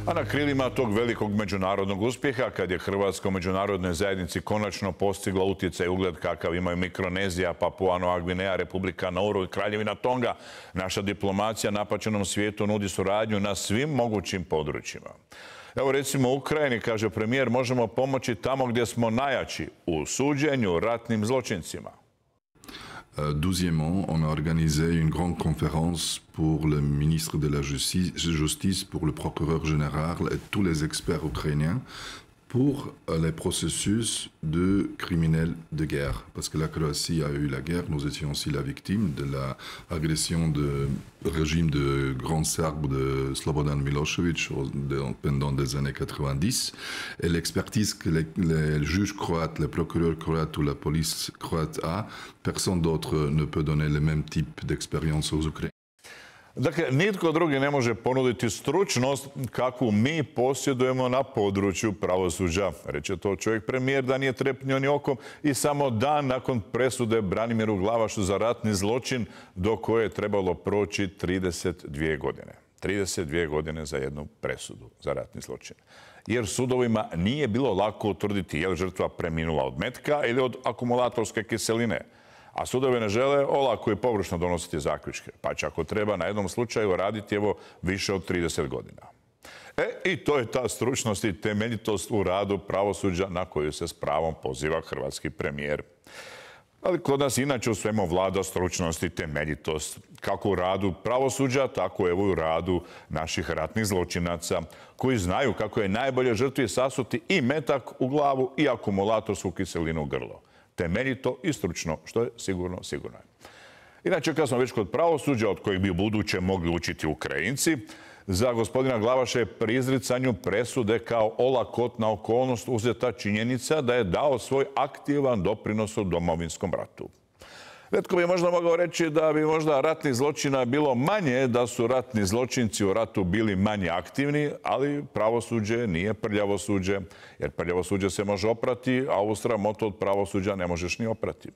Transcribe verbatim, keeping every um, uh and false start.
A na krilima tog velikog međunarodnog uspjeha, kad je Hrvatska u međunarodnoj zajednici konačno postigla utjecaj i ugled kakav imaju Mikronezija, Papua Nova Gvineja, Republika Nauru i Kraljevina Tonga, naša diplomacija napaćenom svijetu nudi suradnju na svim mogućim područjima. Evo recimo u Ukrajini, kaže premijer, možemo pomoći tamo gdje smo najjači, u suđenju ratnim zločincima. Douzièmement, on a organisé une grande conférence pour le ministre de la Justice, pour le procureur général et tous les experts ukrainiens pour les processus de criminels de guerre. Parce que la Croatie a eu la guerre, nous étions aussi la victime de l'agression du régime de Grand Serbe de Slobodan Milošević pendant les années quatre-vingt-dix. Et l'expertise que les, les juges croates, les procureurs croates ou la police croate a, personne d'autre ne peut donner le même type d'expérience aux Ukrainiens. Dakle, nitko drugi ne može ponuditi stručnost kakvu mi posjedujemo na području pravosuđa. Reče to čovjek premijer da nije trepnio ni okom i samo dan nakon presude Branimiru Glavašu za ratni zločin do koje je trebalo proći trideset dvije godine. trideset dvije godine za jednu presudu za ratni zločin. Jer sudovima nije bilo lako utvrditi je li žrtva preminula od metka ili od akumulatorske kiseline. A sudovi ne žele olako i površno donositi zaključke. Pa će ako treba na jednom slučaju raditi evo više od trideset godina. E, i to je ta stručnost i temeljitost u radu pravosuđa na koju se s pravom poziva hrvatski premijer. Ali kod nas inače u svemu vlada stručnost i temeljitost. Kako u radu pravosuđa, tako evo i u radu naših ratnih zločinaca koji znaju kako je najbolje žrtvi sasuti i metak u glavu i akumulatorsku kiselinu u grlo. Temeljito i stručno, što je sigurno, sigurno je. Inače, kad smo već kod pravosuđa, od kojeg bi u buduće mogli učiti Ukrajinci, za gospodina Glavaša je pri izricanju presude kao olakotna okolnost uzeta činjenica da je dao svoj aktivan doprinos u Domovinskom ratu. Netko bi možda mogao reći da bi možda ratnih zločina bilo manje, da su ratni zločinci u ratu bili manje aktivni, ali pravosuđe nije prljavo suđe, jer prljavo suđe se može oprati, a ovu sramotu od pravosuđa ne možeš ni oprati.